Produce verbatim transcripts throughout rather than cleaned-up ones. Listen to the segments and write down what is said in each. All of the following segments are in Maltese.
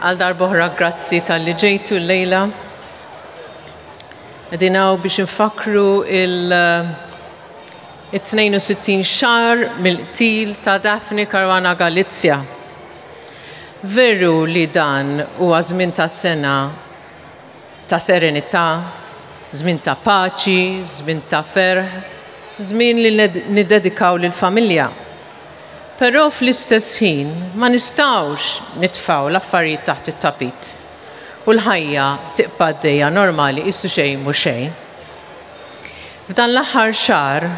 Għal darb'oħra grazzi talli ġejtu llejla. Qegħdin hawn biex nfakru il- it-tnejn u sittin xahar mill-qtil ta' Daphne Caruana Galizia. Veru li dan huwa żmien ta' sena ta' serenità, żmien ta' paċi, żmien ta' ferħ, żmien li niddedikaw lill-familja. Però fl-istess ħin ma nistgħux nitfgħu l-affarijiet taħt it-tapit. U l-ħajja tibqa' għaddejja normali qisu xejn mhu xejn. F'dan l-aħħar xahar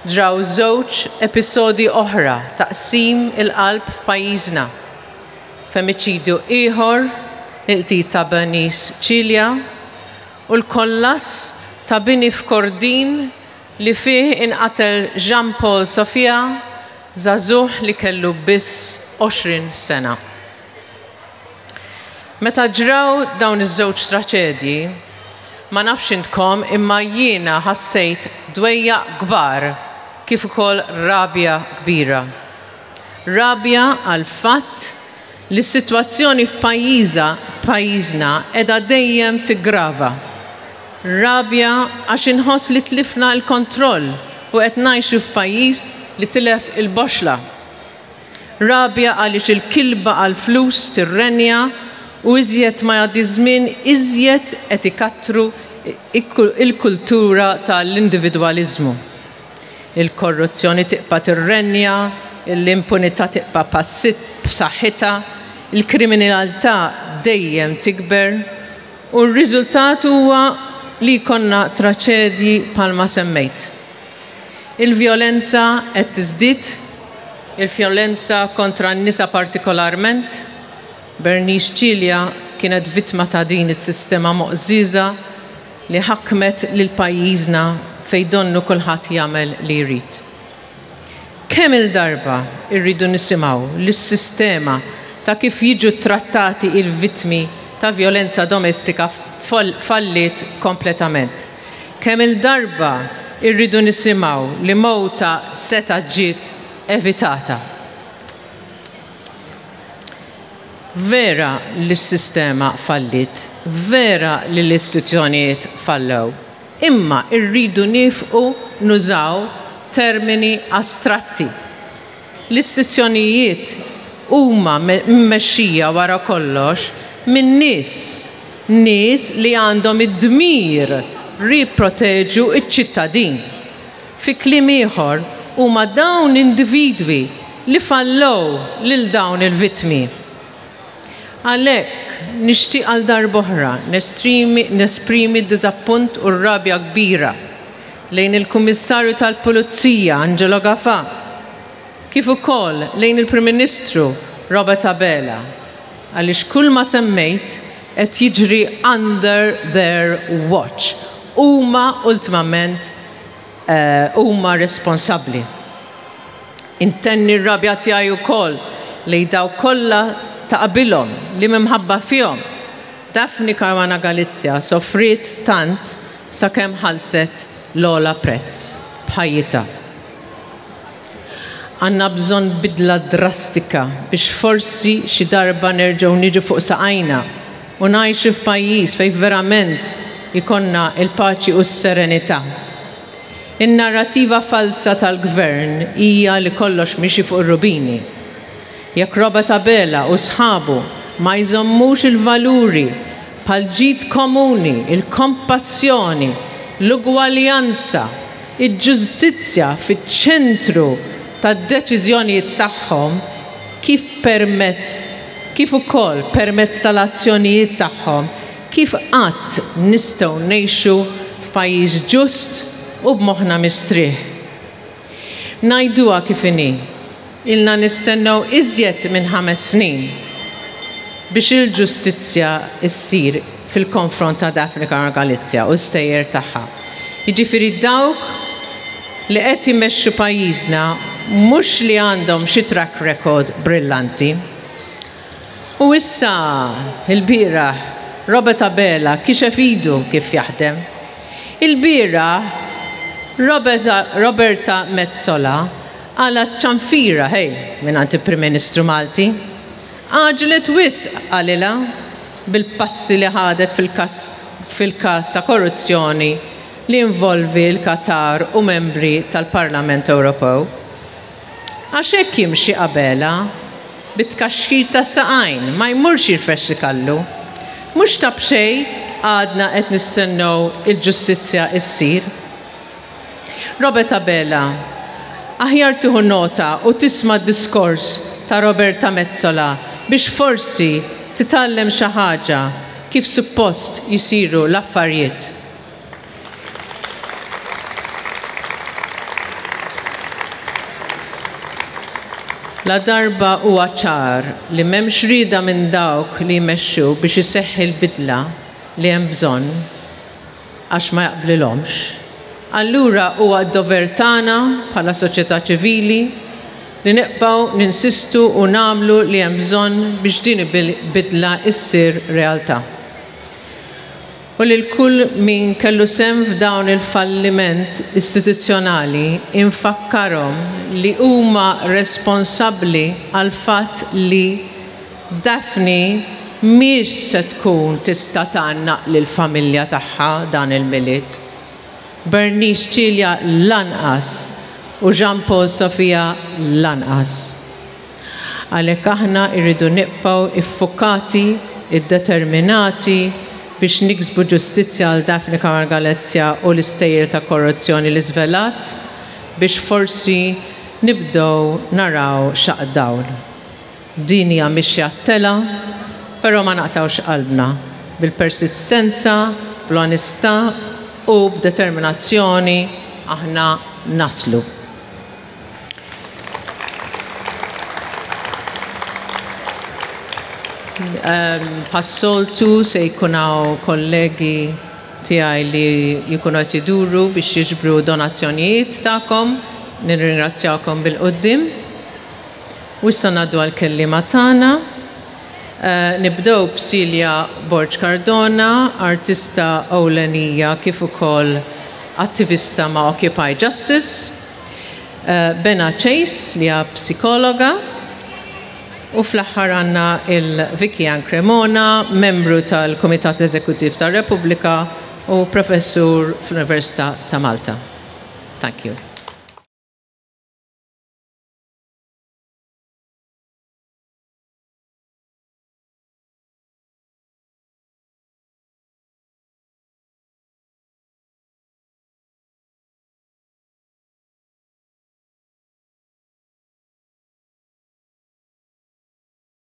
ġraw żewġ episodi oħra ta' qsim il-qalb f'pajjiżna. Femiċidju ieħor, il-qtil ta' Bernice Cilia, u l-kollass ta' bini f'Kordin li fih inqatel Jean Paul Sofia, żagħżugħ li kellu biss għoxrin sena. Meta ġraw dawn iż-żewġ traċedji, ma nafx intkom, imma jiena ħassejt dwejjaq kbar kif ukoll rabja kbira. Rabja għal fatt li s-sitwazzjoni f'pajjiża pajjiżna qiegħda dejjem tiggrava. Rabja għax inħoss li tlifna l-kontroll u qed ngħixu f'pajjiż li tilef il-boxla. Rabja għaliex il-kilba għal-flus tirrenja u iżjed ma jgħaddi żmien, iżjed qed ikattru il-kultura tal-individwaliżmu. Il-korruzzjoni tibqa' tirrenja, l-impunità tibqa' passit b'saħħitha, il-kriminalità dejjem tikber u r-riżultat huwa li jkollna traċedji bħalma semmejt. Il-vjolenza qed tiżdied, il-vjolenza kontra n-nisa partikolarment. Bernice Cilia kienet vittma ta' din is-sistema moqżiża li ħakmet lil pajjiżna, fejn donnu kulħadd jagħmel li jrid. Kemm il-darba irridu nisimgħu li s-sistema ta' kif jiġu trattati il-vittmi ta' vjolenza domestika fallit kompletament? Kemm il-darba irridu nisimgħu li mowta seta' ġiet evitata? Vera li s-sistema fallit, vera li l-istituzzjonijiet fallew, imma irridu nieqfu nużaw termini astratti. L-istituzzjonijiet huma mmexxija wara kollox minn nies, nies li għandhom id-dmir jipproteġu iċ-ċittadin. Fi kliem ieħor, huma dawn individwi li fallow lil dawn il-vittmi. Għalhekk nixtieq għal darb'oħra nesprimi nesprimi d-diżappunt u r-rabja kbira lejn il-Kummissarju tal-Pulizija Angelo Gafà, kif ukoll lejn il-Prim Ministru Robert Abela, għaliex kull ma semmejt qed jiġri under their watch. Huma ultimament eh, huma responsabbli. Intenni r-rabja tiegħi wkoll lejn dawk kollha ta' qabilhom li minħabba fihom Daphne Caruana Galizia sofriet tant sakemm ħallset l-ogħla prezz b'ħajjitha. Għandna bżonn bidla drastika biex forsi xi darba nerġgħu niġu fuq saqajna u ngħixu f'pajjiż fejn verament ikollna il-paċi u s-serenità. In-narrativa falsa tal-gvern hija li kollox mixi fuq ir-rubini. Jekk Robert Abela u sħabu ma jżommux il-valuri bħal ġid komuni, il-kompassjoni, l-ugwaljanza, il-ġustizzja fiċ-ċentru tad-deċiżjonijiet tagħhom, kif permezz kif ukoll permezz tal-azzjonijiet tagħhom, kif qatt nistgħu ngħixu f'pajjiż ġust u b'moħħna mistrieħ? Ngħiduha kif inhi. Ilna nistennew iżjed minn ħames snin biex il-ġustizzja issir fil-konfront ta' Daphne Caruana Galizia u stejjer tagħha. Jiġifieri dawk li qed jmexxu pajjiżna mhux li għandhom xi track record brillanti. U issa il-bieraħ Robert Abela kixef idu kif jaħdem. Il-bieraħ Roberta Metsola qalgħet ċanfira, hej, minn il-Prim Ministru Malti. Għaġġlet wisq qalilha bil-passi li ħadet fil-każ ta' korruzzjoni li involvi l-Qatar u membri tal-Parlament Ewropew. Għax hekk jimxi Abela bit-tkaxkir ta' saqajn, ma jmurx jirfes kallu. Mhux ta' b'xejn għadna qed nistennew il-ġustizzja issir. Robert Abela, aħjar tieħu nota u tisma' diskors ta' Roberta Metsola biex forsi titgħallem xi ħaġa kif suppost jisiru l-affarijiet. La darba huwa ċar li m'hemmx rieda minn dawk li jmexxu biex iseħħi l-bidla li hemm bżonn għax ma jaqblilhomx. Allura huwa d-dover tagħna bħala soċjetà ċivili li nibqgħu ninsistu u nagħmlu li hemm bżonn biex din il-bidla issir realtà. U lil kull min kellu sehem f'dawn il-falliment istituzzjonali infakkarhom li huma responsabbli għal fatt li Daphne mhix se tkun tista' tgħannaq lill-familja tagħha dan il-Milied. Bernice Cilia lanqas u Jean Paul Sofia lanqas. Għalhekk aħna rridu nibqgħu iffukati, iddeterminati biex niksbu ġustizzja għal Daphne Caruana Galizia u l-istejjer ta' korruzzjoni li żvelat biex forsi nibdew naraw xaq dawl. Din hija mixja telgħa, però ma naqtawx qalbna bil-persistenza, bl-onestà u b'determinazzjoni aħna naslu. Bħas-soltu se jkun hawn kollegi tiegħi li jkunu qed iduru biex jiġbru donazzjonijiet tagħkom. Nirringrazzjakom bil-quddiem. U issa ngħaddu għall-kelliema tagħna. Nibdew b'Celia Borg Cardona, artista ewlenija kif ukoll attivista ma' Occupy Justice. Bena Chase li hija psikologa. U fl-aħħar għandna il-Vicky Ann Cremona, membru tal-Kumitat Eżekuttiv tar-Repubblika u professur fl-Università ta' Malta. Thank you.